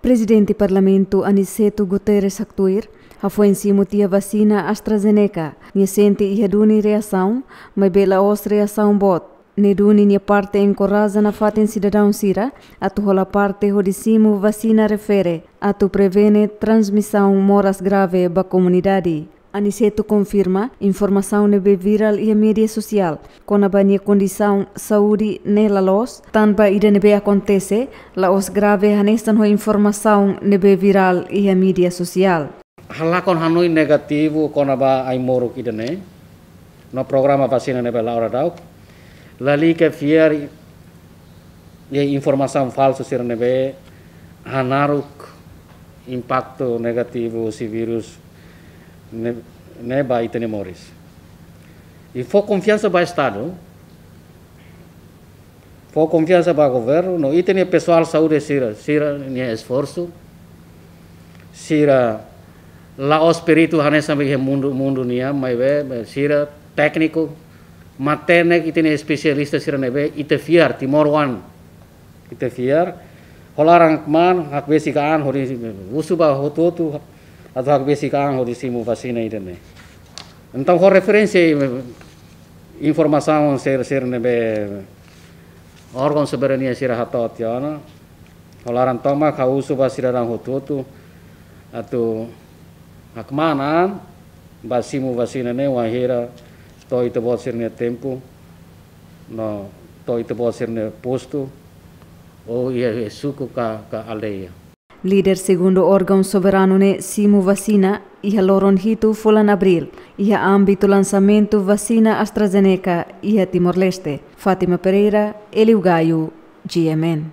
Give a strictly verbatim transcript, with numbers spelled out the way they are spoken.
Prezidente Parlamentu Aniceto Guterres haktuir, hafoin simu tiha vasina AstraZeneca, nia sente iha duni reasaun, maibé la'ós reasaun boot. Ne'e duni nia parte enkoraja nafatin sidadaun sira atu hola parte hodi simu vasina refere atu prevene transmisaun moras grave ba komunidade. Aniceto konfirma informasaun ne'ebé virál iha média sosiál kona-ba nia kondisaun saúde ne'e la loos, tanba ida ne'ebé akontese la'ós grave hanesan ho informasaun ne'ebé virál iha média sosiál. Halakon hanoin negativu kona-ba ai-moruk ida-ne'e no programa vasina ne'ebé la'o daudaun, lalika fiar iha informasaun falsu sira ne'ebé hanaruk impaktu negativu husi vírus ne'e, ne'e ba ita-nia moris. I fó konfiansa ba Estadu, fó konfiansa ba governu, no ita-nia pesoál saúde sira, sira-nia esforsu, sira la'ós peritu hanesan iha mundu, mundu nian, maibé, be, sira tékniku, matenek, ita-nia espesialista sira ne'ebé ita fiar, timoroan ita fiar, hola laran kmaan, hakbesik an hodi, husu ba hotu-hotu atu hakbesik an hodi simu vasina ida-ne'e. Entaun, ho referénsia informasaun sira, sira ne'ebé órgaun soberania sira hato'o tiha ona, hola laran tomak ha'u husu ba sidadaun hotu-hotu atu hakmaan an ba simu vasina ne'e, wainhira to'o ita-boot sira-nia tempu no to'o ita-boot sira-nia postu, ou iha, iha suku ka, ka aldeia. Líder segundu órgaun soberanu ne'e simu vasina iha loron hitu fulan Abríl, iha ámbitu lansamentu vasina AstraZeneca iha Timor-Leste. Fátima Pereira, Hélio Gaio, G M N.